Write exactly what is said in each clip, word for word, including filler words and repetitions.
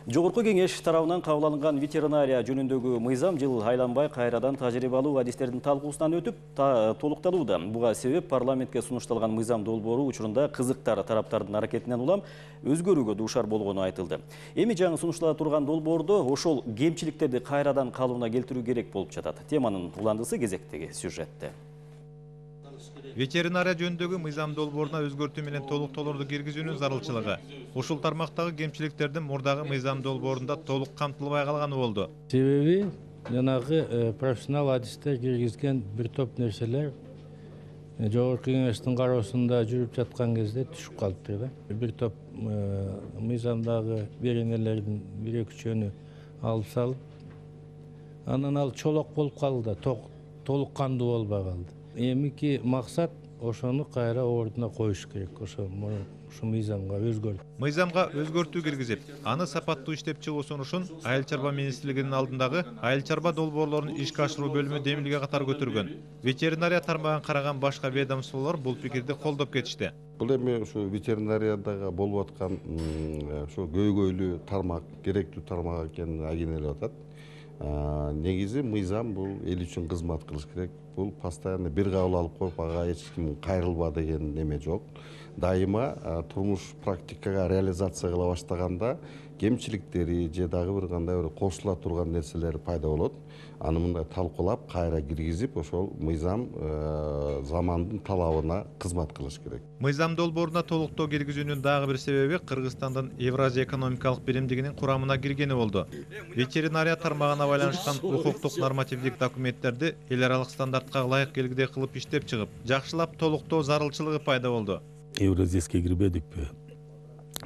Жогорку кеңеш тарабынан кабыл алынган ветеринария жөнүндөгү мыйзам жыл айланбай кайрадан тажрыйба алуу адистердин талкуусунан өтүп толукталууда. Буга себеп парламентке сунушталган мыйзам долбоору учурунда кызыктар тараптардын аракетинен улам өзгөрүүгө дуушар болгону айтылды. Эми жаңы сунуштала турган долбоордо ошол кемчиликтерди кайрадан калыбына келтирүү керек болуп жатат. Теманын уландысы кезектеги сюжетте. Ветеринария жөнүндөгү мыйзам долбооруна өзгөртүү менен толуктоолорду киргизүүнүн зарылчылыгы ушул тармактагы кемчиликтердин мурдагы мыйзам долбоорунда толук камтылбай калганы болду. Себеби жанагы профессионал адистер киргизген бир топ нерселер жогорку кеңештин кароосунда жүрүп жаткан кезде түшүп калыптыр да. Бир топ мыйзамдагы беренелердин бир экичөөнү алып салып, анан ал чолок болуп калды да, толук кандуу болбой калды. Эмики максат ошону кайра ордуна коюш керек, ошо ушу мыйзамга өзгөртүү. Мыйзамга өзгөртүү киргизип, аны сапаттуу иштеп чыгуу сунушун Айыл чарба министрлигинин алдындагы Айыл чарба долбоорлорун ишке ашыруу бөлүмү демилге катары көтөргөн. Ветеринария тармагын караган башка ведомстволор бул пикирди колдоп кетишти. Бул эми ушу ветеринариядагы болуп аткан ушу көйгөйлүү тармак, керектүү тармак экенин агенелеп атат. Негизи мыйзам бул эл үчүн кызмат кылыш керек. Бул постоянно бир кабыл алып коюп, ага эч ким кайрылба деген неме жок. Дайыма турмуш практикага реализация кыла баштаганда кемчиликтери же дагы бир кандай бир кошула турган нерселер пайда болот. Аны мындай талкуулап, кайра киргизип, ошол мыйзам замандын талабына кызмат кылыш керек. Мыйзам долбооруна толуктоо киргизүүнүн дагы бир себеби Кыргызстандын Евразия экономикалык биримдигинин курамына киргени болду. Ветеринария тармагына байланышкан укуктук нормативдик документтерди эл аралык стандартка ылайык келгидей кылып иштеп чыгып, жакшылап толуктоо зарылчылыгы пайда болду. Евразияске кирбедикпи?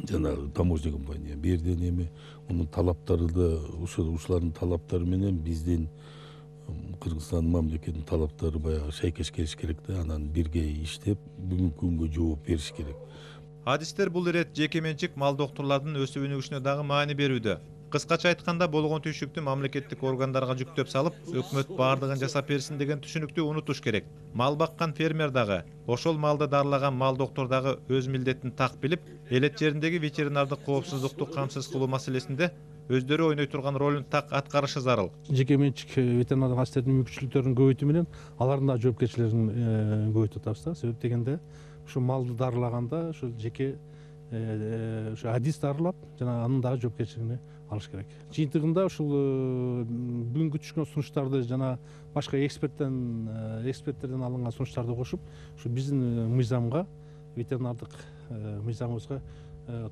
Жанагы таможня компания берден эми мунун талаптары да ушулардын талаптары менен биздин Кыргызстан мамлекетинин талаптары баягы шайкеш келиш керек да, анан бирге иштеп бүгүнкү күнгө жооп бериш керек. Адистер бул ирет жеке менчик мал доктурлардын өсүп өнүгүшүнө дагы маани берүүдө. Кыскача айтканда болгон түйшүктү мамлекеттик органдарга жүктөп салып, өкмөт баардыгын жасап берсин деген түшүнүктү унутуш керек. Мал баккан фермер дагы, ошол малды дарылаган мал доктор дагы өз милдетин так билип, элет жериндеги ветеринардык коопсуздукту камсыз кылуу маселесинде өздөрү ойной турган ролун так аткарышы зарыл. Жеке менчик ветеринардык адистердин мүмкүнчүлүктөрүн көбөйтүү менен алардын да жоопкерчилигин көбөйтүп атабыз да. Себеп дегенде ушу малды дарылаганда ушу жеке ушу адис дарылап, жана анын дагы жоопкерчилигин алыш керек. Жыйынтыгында ушул бүгүнкү түшкөн сунуштарды жана башка эксперттен эксперттерден алынган сунуштарды кошуп, ушу биздин мыйзамга, ветеринардык мыйзамыбызга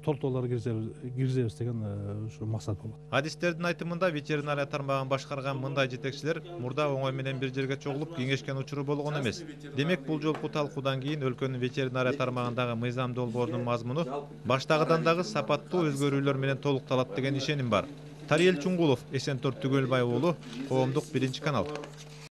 толтуруулар киргизебиз деген ушу максат болот. Адистердин айтымында ветеринария тармагын башкарган мындай жетекчилер мурда оңой менен бир жерге чогулуп кеңешкен учуру болгон эмес. Демек бул жолку талкуудан кийин өлкөнүн ветеринария тармагындагы мыйзам долбоорунун мазмуну баштагыдан дагы сапаттуу өзгөрүүлөр менен толукталат деген ишеним бар. Тариел Чуңгулов, Эсентор Түгөлбай уулу, Коомдук биринчи канал.